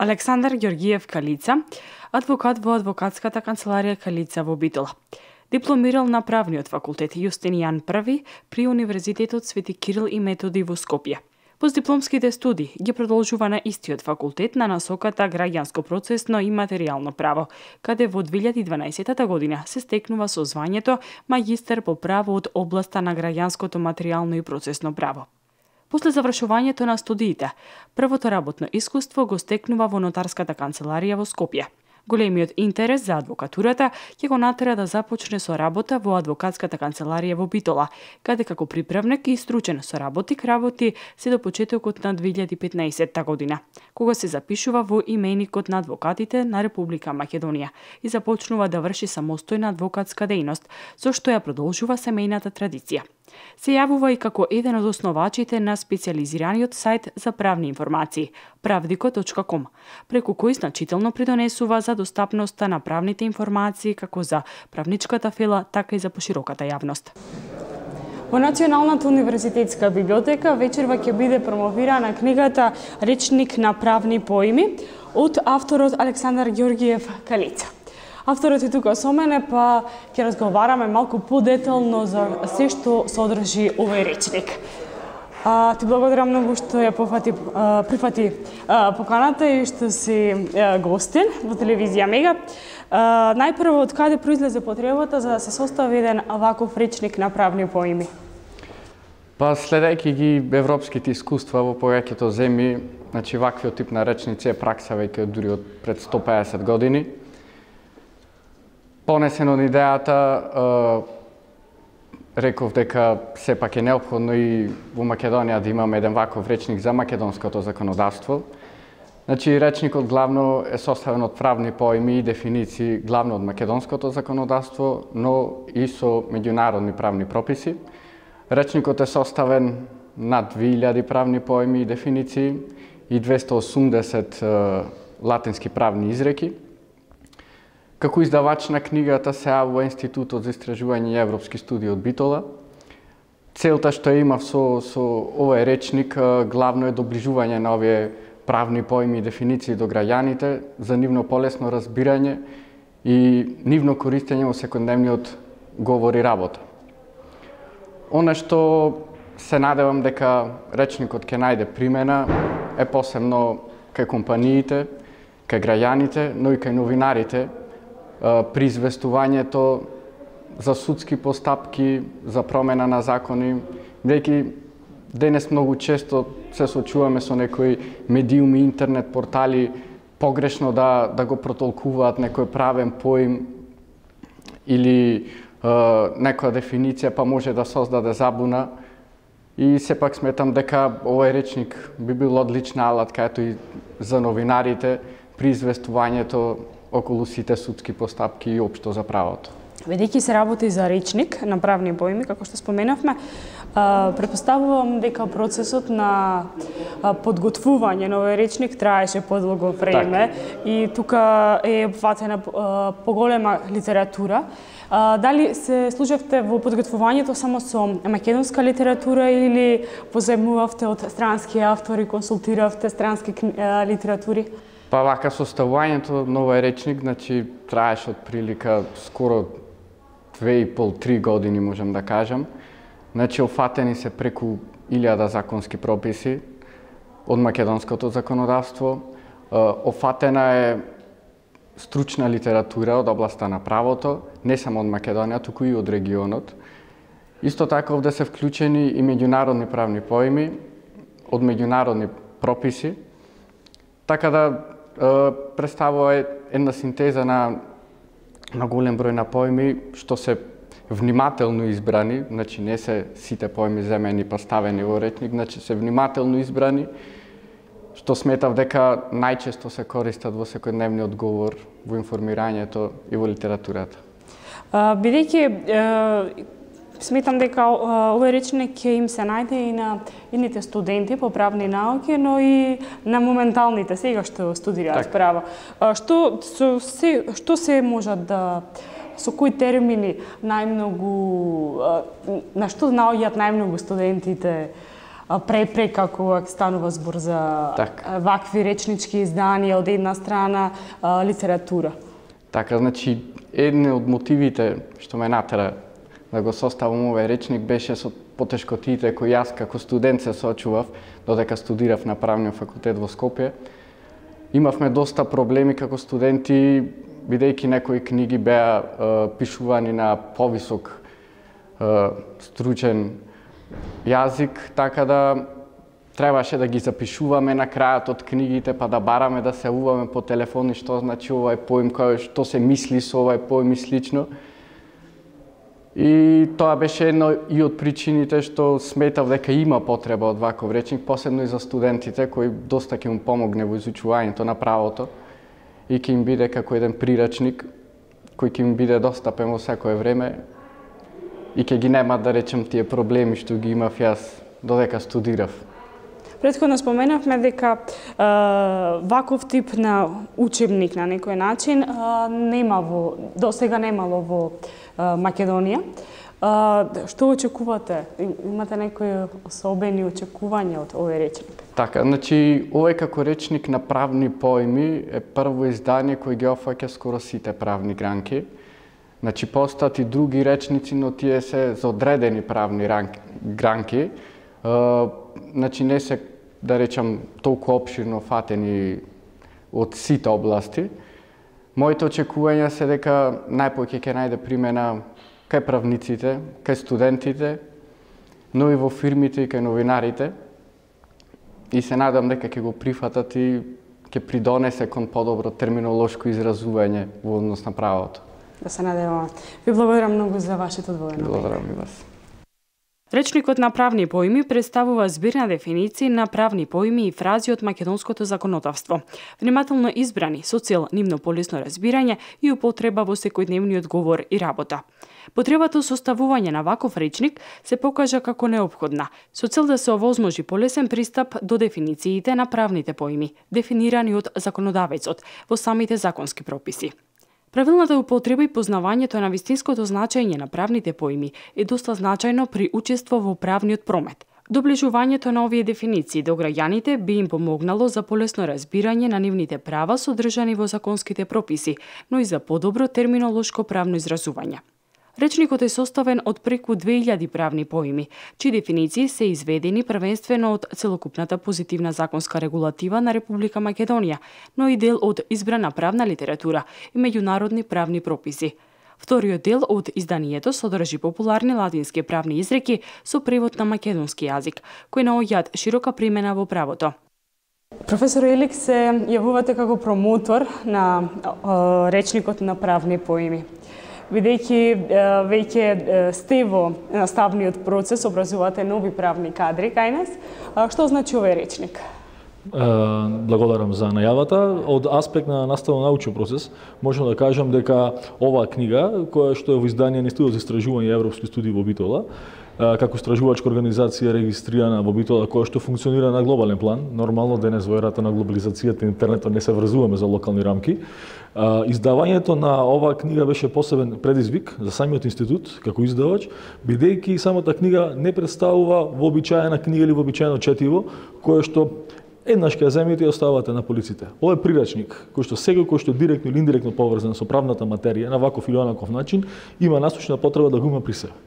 Александар Ѓоргиев Калица, адвокат во адвокатската канцеларија Калица во Битола. Дипломирал на правниот факултет Јустинијан I при Универзитетот Свети Кирил и Методи во Скопје. Постдипломските студии ги продолжува на истиот факултет на насоката граѓанско процесно и материјално право, каде во 2012 година се стекнува со звањето магистер по право од областа на граѓанското материјално и процесно право. После завршувањето на студиите, првото работно искуство го стекнува во нотарската канцеларија во Скопје. Големиот интерес за адвокатурата ќе го натера да започне со работа во адвокатската канцеларија во Битола, каде како приправник и стручен соработник работи се до почетокот на 2015 година, кога се запишува во именикот на адвокатите на Република Македонија и започнува да врши самостојна адвокатска дејност, со што ја продолжува семејната традиција. Се јавува и како еден од основачите на специјализираниот сајт за правни информации pravdiko.com, преку кој значително придонесува за достапноста на правните информации како за правничката фела, така и за пошироката јавност. Во Националната универзитетска библиотека вечерва ќе биде промовирана книгата Речник на правни поими од авторот Александар Ѓоргиев Калица. Авторот е тука со мене, па ќе разговараме малку подетално за се што содржи овој речник. Ти благодарам многу што ја прифати поканата и што си гостин во телевизија Мега. Најпрво, од каде произлезе потребата за да се состави еден ваков речник на правни поими? Па следејќи ги европските искуства во повеќето земји, значи ваквиот тип на речници е пракса веќе дури од пред 150 години. Понесен од идејата, реков дека сепак е неопходно и во Македонија да имаме еден ваков речник за македонското законодавство. Значи, речникот главно е составен од правни поими и дефиниции главно од македонското законодавство, но и со меѓународни правни прописи. Речникот е составен над 2000 правни поими и дефиниции и 280 латински правни изреки. Како издавач на книгата се јавува Институтот за истражување и европски студии од Битола. Целта што ја имав со овој речник главно е доближување на овие правни поими и дефиниции до граѓаните за нивно полесно разбирање и нивно користење во секојдневниот говор и работа. Она што се надевам дека речникот ќе најде примена е посебно кај компаниите, кај граѓаните, но и кај новинарите, при известувањето за судски постапки, за промена на закони, бидејќи денес многу често се соочуваме со некои медиуми, интернет портали погрешно да го протолкуваат некој правен поим или некоја дефиниција, па може да создаде забуна. И сепак сметам дека овој речник би бил одлична алатка и за новинарите при известувањето околу сите судски постапки и општо за правото. Ведејќи се работи за речник на правни поими, како што споменавме, претпоставувам дека процесот на подготвување на овој речник траеше подолго време и тука е опфатена поголема литература. Дали се служевте во подготвувањето само со македонска литература или позајмувавте од странски автори, консултиравте странски литератури? Па вака составувањето на овој речник, значи траеше од прилика скоро 2,5-3 години, можам да кажам. Значи офатени се преку 1000 законски прописи од македонското законодавство. Офатена е стручна литература од областа на правото, не само од Македонија, туку и од регионот. Исто така овде се вклучени и меѓународни правни поими од меѓународни прописи, така да представува една синтеза на голем број на поими што се внимателно избрани, значи не се сите поими земени па ставени во речник, значи се внимателно избрани, што сметав дека најчесто се користат во секојдневниот говор, во информирањето и во литературата. Бидејќи сметам дека овој речник ќе им се најде и на едните студенти по правни науки, но и на моменталните сега што студираат право. Што се можат да со кои термини најмногу на што наоѓаат најмногу студентите препрека кога станува збор за вакви речнички изданија од една страна, литература. Така, значи, едни од мотивите што ме натера да го составам овој речник беше со потешкотиите кои јас како студент се соочував додека студирав на Правниот факултет во Скопје. Имавме доста проблеми како студенти, бидејќи некои книги беа пишувани на повисок стручен јазик, така да требаше да ги запишуваме на крајот од книгите, па да бараме да се јавуваме по телефони што значи овој поим, што се мисли со овој поим и слично. И тоа беше едно и од причините што сметав дека има потреба од ваков речник, посебно и за студентите кои доста ќе им помогне во изучувањето на правото и ќе им биде како еден прирачник кој ќе им биде достапен во секое време и ќе ги нема, да речем, тие проблеми што ги имав јас додека студирав. Претходно споменавме дека ваков тип на учебник на некој начин досега немало во Македонија. Што очекувате? Имате некои особени очекувања од овој речник? Така, значи, овој како речник на правни поими е прво издание кој ги опфаќа скоро сите правни гранки. Значи, постојат и други речници, но тие се за одредени правни гранки. Значи, не се, да речам, толку опширно фатени од сите области. Моите очекувања се дека најпоќе ќе најде примена кај правниците, кај студентите, но и во фирмите и кај новинарите. И се надам дека ќе го прифатат и ќе придонесе кон подобро терминолошко изразување во однос на правото. Да се надеваме. Ви благодарам многу за вашето одвоено. Благодарам и вас. Речникот на правни поими представува збирна дефиниции на правни поими и фрази од македонското законодавство, внимателно избрани со цел нивно полесно разбирање и употреба во секојдневниот говор и работа. Потребата составување на ваков речник се покажа како неопходна, со цел да се овозможи полесен пристап до дефинициите на правните поими, дефинирани од законодавецот во самите законски прописи. Правилната употреба и познавањето на вистинското значење на правните поими е доста значајно при учество во правниот промет. Доближувањето на овие дефиниции до граѓаните би им помогнало за полесно разбирање на нивните права содржани во законските прописи, но и за подобро терминолошко правно изразување. Речникот е составен од преку 2000 правни поими, чии дефиниции се изведени првенствено од целокупната позитивна законска регулатива на Република Македонија, но и дел од избрана правна литература и меѓународни правни прописи. Вториот дел од изданието содржи популарни латински правни изреки со превод на македонски јазик, кои наоѓаат широка примена во правото. Професор Илик, се јавувате како промотор на речникот на правни поими. Бидејќи веќе сте во наставниот процес, образувате нови правни кадри кај нас, што значи овој речник? Благодарам за најавата. Од аспект на наставно-научен процес, можам да кажам дека оваа книга, која што е во издание на Институтот за истражување и европски студии во Битола, како истражувачка организација регистрирана во Битола, која што функционира на глобален план. Нормално денес во ерата на глобализацијата интернетот не се врзуваме за локални рамки. Издавањето на оваа книга беше посебен предизвик за самиот институт како издавач, бидејќи самата книга не представува вообичаена книга или вообичаено четиво, кое што еднаш ќе земите и оставате на полиците. Овој прирачник, кој што секој кој што директно или индиректно поврзан со правната материја на ваков или онаков начин, има насочна потреба да го има при себе.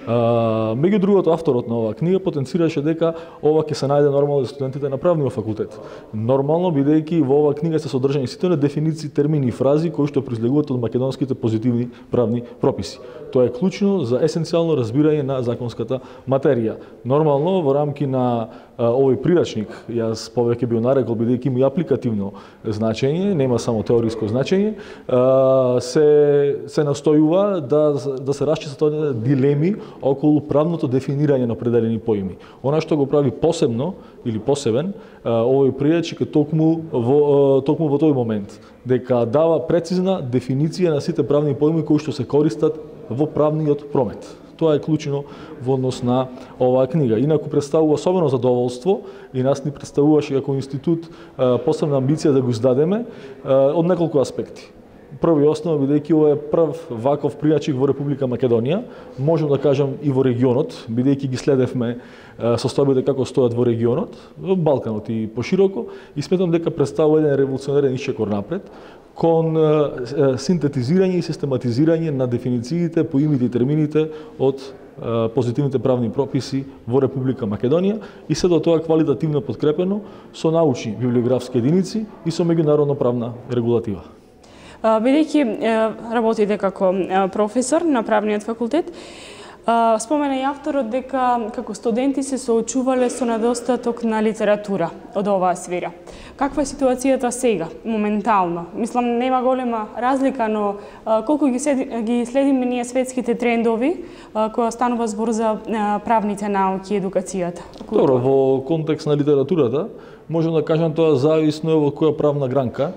Меѓу другото, авторот на оваа книга потенцираше дека ова ќе се најде нормално за студентите на правниот факултет. Нормално, бидејќи во оваа книга се содржани сите дефиниции, термини и фрази кои што произлегуваат од македонските позитивни правни прописи. Тоа е клучно за есенцијално разбирање на законската материја. Нормално, во рамки на овој прирачник, јас повеќе би го нарекол, бидејќи има и апликативно значење, нема само теориско значење, се настојува да се расчистат дилеми околу правното дефинирање на определени поими. Она што го прави посебно или посебен овој прирачник е токму во тој момент, дека дава прецизна дефиниција на сите правни поими кои што се користат во правниот промет. Тоа е клучно во однос на оваа книга. Инаку представува особено задоволство и нас ни представуваше како институт посебна амбиција да го издадеме од неколку аспекти. прв и основа, бидејќи ова е прв ваков пријачик во Република Македонија, можам да кажам и во регионот, бидејќи ги следевме состојбите како стојат во регионот, во Балканот и пошироко, и сметам дека представува еден револуционерен исчекор напред кон синтетизирање и систематизирање на дефинициите, поимите и термините од позитивните правни прописи во Република Македонија и се до тоа квалитативно подкрепено со научни библиографски единици и со меѓународно правна регулатива. Бидејќи работите како професор на правниот факултет, спомена и авторот дека како студенти се соочувале со недостаток на литература од оваа сфера. Каква е ситуацијата сега, моментално? Мислам, нема голема разлика, но колку ги следиме ние светските трендови која станува збор за правните науки и едукацијата? Добро, во контекст на литературата, можам да кажам тоа зависно од која правна гранка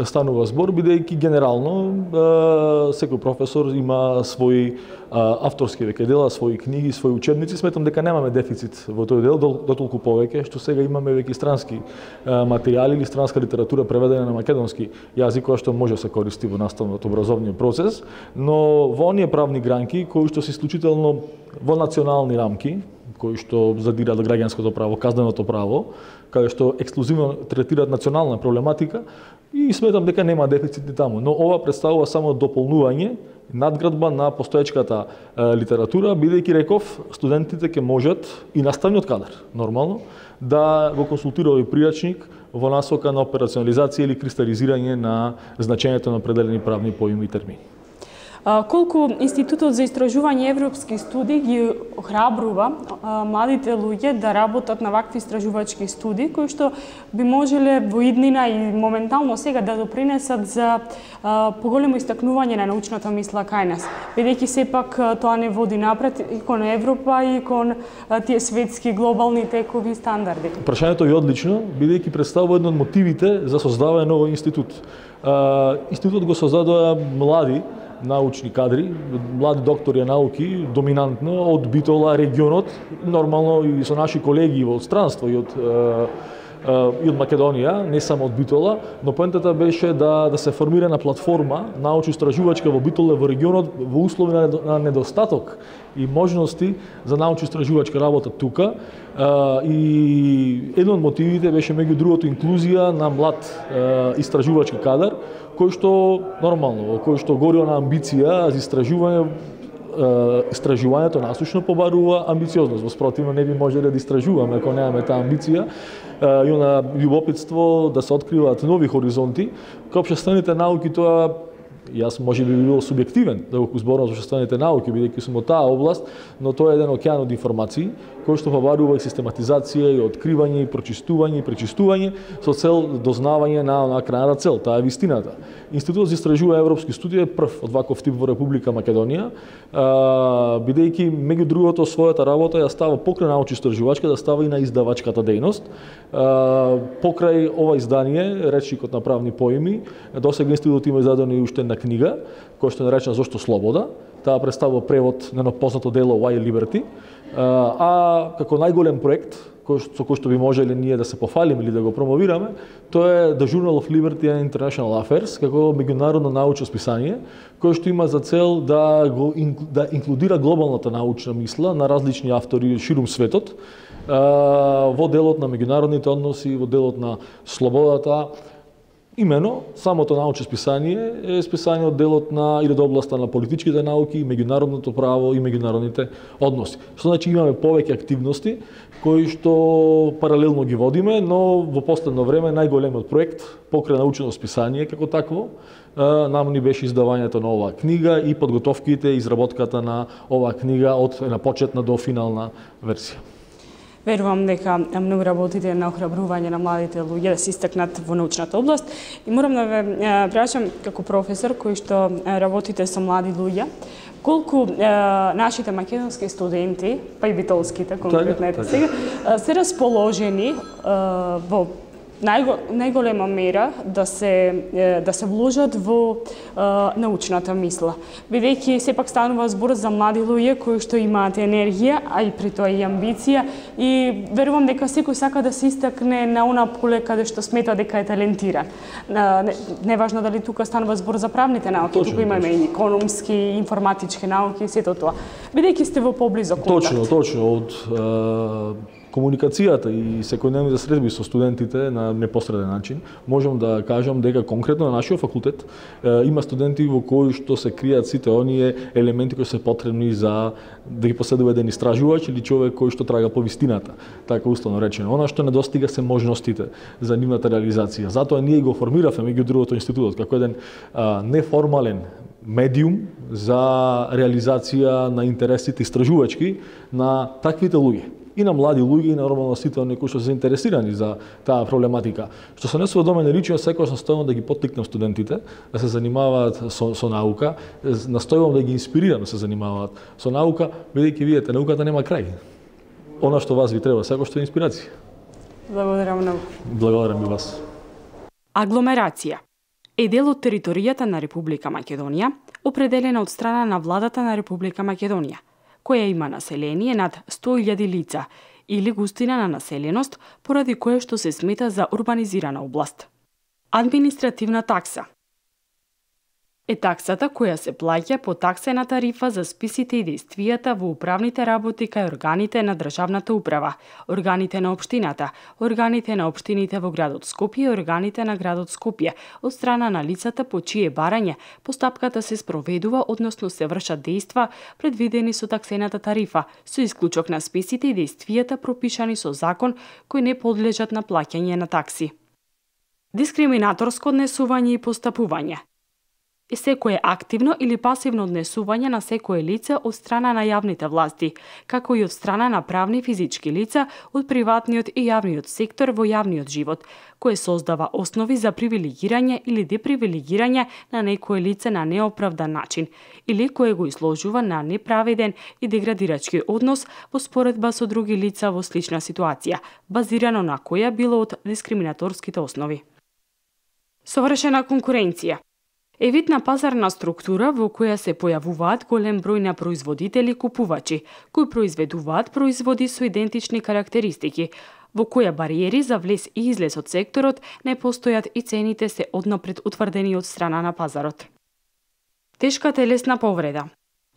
станува збор, бидејќи генерално секој професор има своји авторски веќе дела, своји книги, своји учебници. Сметам дека немаме дефицит во тој дел, дотолку повеќе што сега имаме веќе странски материјали или странска литература преведена на македонски јазик, која што може да се користи во наставниот образовниот процес, но во оние правни гранки кои што се исклучително во национални рамки, кои што задираат граѓанското право, казненото право, каде што ексклузивно третираат национална проблематика, и сметам дека нема дефицити таму, но ова представува само дополнување, надградба на постоечката литература, бидејќи реков студентите ќе можат и наставниот кадар, нормално, да го консултира овој пријачник во насока на операционализација или кристализирање на значењето на определени правни поими и термини. Колку Институтот за истражување европски студии ги охрабрува младите луѓе да работат на вакви истражувачки студии, кои што би можеле во иднина и моментално сега да допринесат за поголемо истакнување на научната мисла кај нас, бидејќи сепак тоа не води напред и кон Европа и кон тие светски глобални текови стандарди. Прашањето е одлично, бидејќи представува еден од мотивите за создавање на овој институт. Институтот го создадоа млади научни кадри, млади доктори науки, доминантно од Битола, регионот, нормално и со наши колеги во странство и од Македонија, не само од Битола, но поентата беше да се формира на платформа научно-истражувачка во Битола во регионот во услови на недостаток и можности за научно-истражувачка работа тука. И еден од мотивите беше меѓу другото инклузија на млад истражувачки кадар, кој што нормално, кој што гори на амбиција за истражувањето насочно побарува амбициозност. Во спротивно не би можеле да истражуваме ако немаме таа амбиција и на љубопитство да се откриваат нови хоризонти. Кај општествените науки тоа јас може би бил субјективен да го зборам за општествените науки, бидејќи сум од таа област, но тоа е еден океан од информации кој што побарува и систематизација и откривање и прочистување и пречистување со цел дознавање на крајната цел, таа е вистината. Институтот за истражување европски студии е прв од ваков тип во Република Македонија, бидејќи меѓу другото својата работа ја става покрај научно-истражувачка, да става и на издавачката дејност. Покрај ова издание, речникот на правни поими, досега институтот има издадена и уште една книга, која што е наречена Зошто слобода. Таа представува превод на едно познато дело Why Liberty, а како најголем проект со кој што би можеле ние да се пофалиме или да го промовираме, тоа е The Journal of Liberty and International Affairs, како меѓународно научно списание, кој што има за цел да инклудира глобалната научна мисла на различни автори ширум светот во делот на меѓународните односи, во делот на слободата. Имено, самото научно списание е списание од делот на или од областа на политичките науки, меѓународното право и меѓународните односи. Што значи имаме повеќе активности кои што паралелно ги водиме, но во последно време најголемиот проект покрај научно списание како такво нам ни беше издавањето на оваа книга и подготовките и изработката на оваа книга од една почетна до финална версија. Верувам дека многу работите на охрабрување на младите луѓе да се истакнат во научната област и морам да ве прашам како професор кој што работите со млади луѓе, колку нашите македонски студенти, па и битолските конкретно сега, се расположени во најголема мера да се вложат во научната мисла. Бидејќи сепак станува збор за млади луѓе кои што имаат енергија, а и при тоа и амбиција, и верувам дека секој сака да се истакне на она поле каде што смета дека е талентиран. Неважно дали тука станува збор за правните науки, тука имаме и економски, информатички науки и сето тоа. Бидејќи сте во поблизо контакт. Точно. Од комуникацијата и секојдневните средби со студентите на непосреден начин, можам да кажам дека конкретно на нашиот факултет има студенти во кои што се кријат сите оние елементи кои се потребни за да ги поседува еден истражувач или човек кој што трага по вистината, така условно речено. Она што недостига се можностите за нивната реализација. Затоа ние го формиравме меѓу другото институтот како еден неформален медиум за реализација на интересите истражувачки на таквите луѓе. И на млади луѓе, и на нормално сите оние кои што се заинтересирани за таа проблематика. Што се однесува до мене лично, секогаш настојувам да ги поттикнам студентите да се занимаваат со наука, настојувам да ги инспирирам да се занимаваат со наука, бидејќи видите, науката нема крај. Она што вас ви треба, секогаш е инспирација. Благодарам многу. Благодарам и вас. Агломерација е дел од територијата на Република Македонија, определена од страна на владата на Република Македонија, која има население над 100.000 лица или густина на населеност, поради кое што се смета за урбанизирана област. Административна такса е таксата која се плаќа по таксена тарифа за списите и действијата во управните работи кај органите на државната управа, органите на општината, органите на општините во градот Скопје и органите на градот Скопје, од страна на лицата по чие барање постапката се спроведува, односно се вршат дејства предвидени со таксената тарифа, со исклучок на списите и действијата пропишани со закон кои не подлежат на плаќање на такси. Дискриминаторско однесување и постапување е секое активно или пасивно однесување на секое лице од страна на јавните власти, како и од страна на правни и физички лица од приватниот и јавниот сектор во јавниот живот, кое создава основи за привилегирање или депривилегирање на некое лице на неоправдан начин, или кое го изложува на неправеден и деградирачки однос во споредба со други лица во слична ситуација, базирано на која било од дискриминаторските основи. Совршена конкуренција е вид на пазарна структура во која се појавуваат голем број на производители и купувачи, кои произведуваат производи со идентични карактеристики, во која бариери за влез и излез од секторот не постојат и цените се однапред утврдени од страна на пазарот. Тешка телесна повреда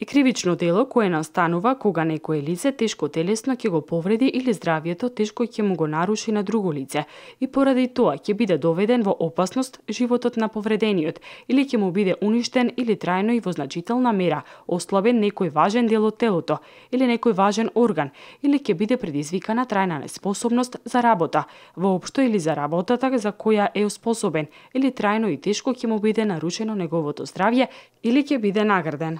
е кривично дело кое настанува кога некое лице тешко телесно ќе го повреди или здравието тешко ќе му го наруши на друго лице и поради тоа ќе биде доведен во опасност животот на повредениот или ќе му биде уништен или трајно и во значителна мера ослабен некој важен дел од телото или некој важен орган или ќе биде предизвикана трајна неспособност за работа, воопшто или за работата за која е способен или трајно и тешко ќе му биде нарушено неговото здравје или ќе биде награден.